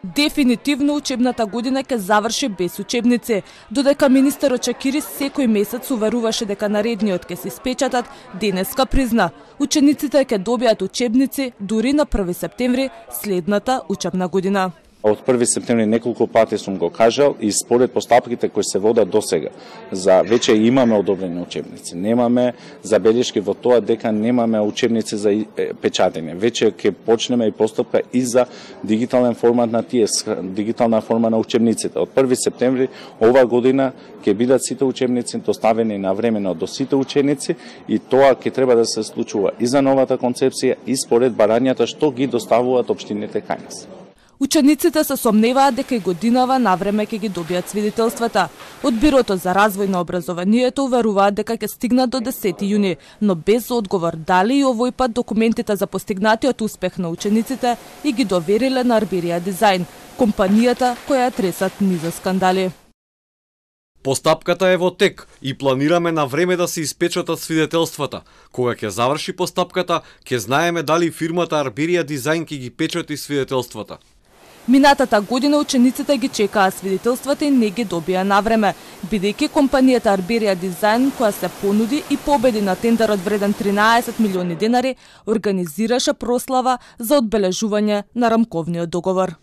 Дефинитивно учебната година ќе заврши без учебници, додека министерот Чакирис секој месец уверуваше дека наредниот ќе се испечатат, денеска призна, учениците ќе добијат учебници дури на 1 септември следната учебна година. Од 1 септември неколку пати сум го кажал и според постапките кои се водат досега, за веќе имаме одобрени учебници. Немаме забелешки во тоа дека немаме учебници за печатење. Веќе ќе почнеме и постапка и за дигитален формат на тие, дигитална форма на учебниците. Од 1 септември ова година ќе бидат сите учебници доставени навремено до сите ученици и тоа ќе треба да се случува и за новата концепција и според барањата што ги доставуваат општините кај нас. Учениците се сомневаат дека и годинава навреме ќе ги добијат свидетелствата. Од Бирото за развој на образованието уверуваат дека ќе стигнат до 10 јуни, но без одговор дали и овој пат документите за постигнатиот успех на учениците и ги довериле на Арберија Дизајн, компанијата која тресат низа скандали. Постапката е во тек и планираме на време да се испечатат свидетелствата. Кога ќе заврши постапката, ќе знаеме дали фирмата Арберија Дизајн ќе ги печати свидетелствата. Минатата година учениците ги чекаа свидетелствата и не ги добија навреме, бидејќи компанијата Арберија Дизајн, која се понуди и победи на тендерот вреден 13 милиони денари, организираше прослава за одбележување на рамковниот договор.